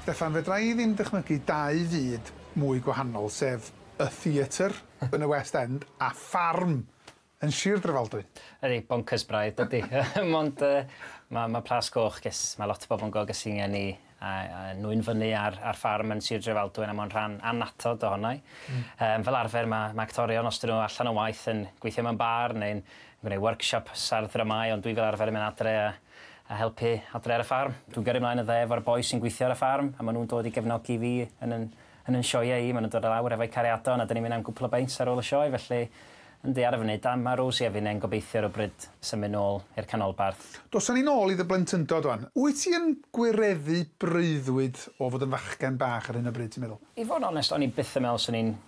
Steffan, fedra i ddim dychmygu dau fyd mwy gwahanol, sef y theatr yn y West End a ffarm yn Sir Drefaldwyn. Ydy, bonkers braidd, dydy. Mond mae Plas Coch, ges, mae lot o bobl yn gweld ges i'n geni a nwyn fyny ar ffarm yn Sir Drefaldwyn a mae'n rhan annatod ohono i. Fel arfer mae actorion, os dyn nhw allan o waith, yn gweithio mewn bar neu'n gwneud workshops ar ddramau, ond dwi fel arfer yn mynd adre a helpu adre ar y ffarm. Dwi'n gyrru ymlaen y dde efo'r boi sy'n gweithio ar y ffarm a maen nhw'n dod i gefnogi fi yn yn sioeau i. Maen nhw'n dod lawr efo'u cariadon a dyn ni'n mynd am gwpl o beints ar ôl y sioe, felly yndi, ar y funud, a mae Rosie a finne'n gobeithio rhywbryd symud nôl i'r canolbarth. Dosan ni nôl i dy blentyndod wan. Wyt ti yn gwireddu breuddwyd o fod yn fachgen bach ar hyn o bryd, ti'n meddwl? I fod yn onest, o'n i byth yn meddwl swn i'n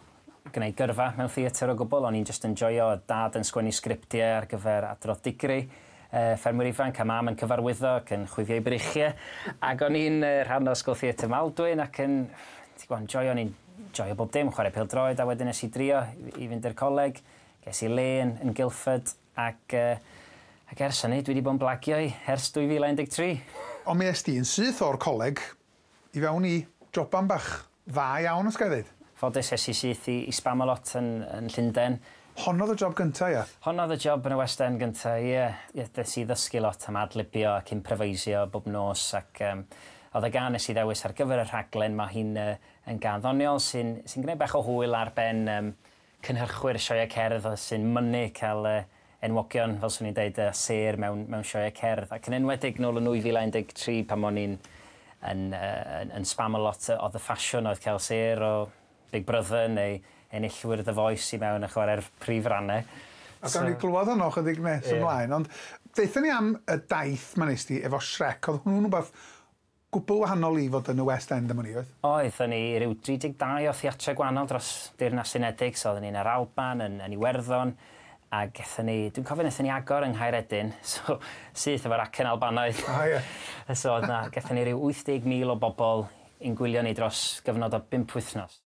gwneud gyrfa mewn theatr o gwbl. O'n i'n just yn joio dad yn sgwennu sgriptiau ar gyfer adrodd digri, ffermwyr ifanc a mam yn cyfarwyddo ac yn chwifio i breichiau. Ac o'n i'n rhan o Ysgol Theatr Maldwyn ac yn, ti'n gwybod, joio, o'n i'n joio bob dim, chwarae pêl-droed, a wedyn nes i drio i fynd i'r coleg. Ges i le yn Guildford ac ers hynny dwi wedi bod yn blagio i ers 2013. Ond mi es di yn syth o'r coleg i fewn i joban bach dda iawn, os ga i ddweud. Ffodus, es i syth i Spamalot yn Llundain. Honno oedd y job gynta, ia? Honno oedd y job yn y West End gynta, ie. Yeah. Des i ddysgu lot am adlibio ac improvisio bob nos ac oedd y gân nes i ddewis ar gyfer y rhaglen, mae hi'n yn gân ddoniol sy'n gwneud bach o hwyl ar ben cynhyrchwyr sioeau cerdd sy'n mynnu cael enwogion, fel swn i'n deud, sêr mewn sioeau cerdd. Ac yn enwedig nôl yn 2013 pan o'n i'n yn Spamalot, oedd y ffasiwn oedd cael sêr o Big Brother neu enillwyr The Voice i mewn a chwarae'r prif rannau. A gawn ni glwad honno chydig nes ymlaen, ond deutha ni am y daith ma nes di efo Shrek. Oedd hwnnw'n rhywbeth gwbl wahanol i fod yn y West End am wn i, oedd? Oedd, o'n i ryw 32 o theatrau gwahanol dros Deyrnas Unedig, so oedden ni'n yr Alban, yn Iwerddon, a gethon ni, dwi'n cofio wnaethon ni agor yng Nghaeredin, so syth efo'r acen Albanaidd. Ah, ie. So oedd na, gethon ni ryw 80,000 o bobl i'n gwylio ni dros gyfnod o 5 wythnos.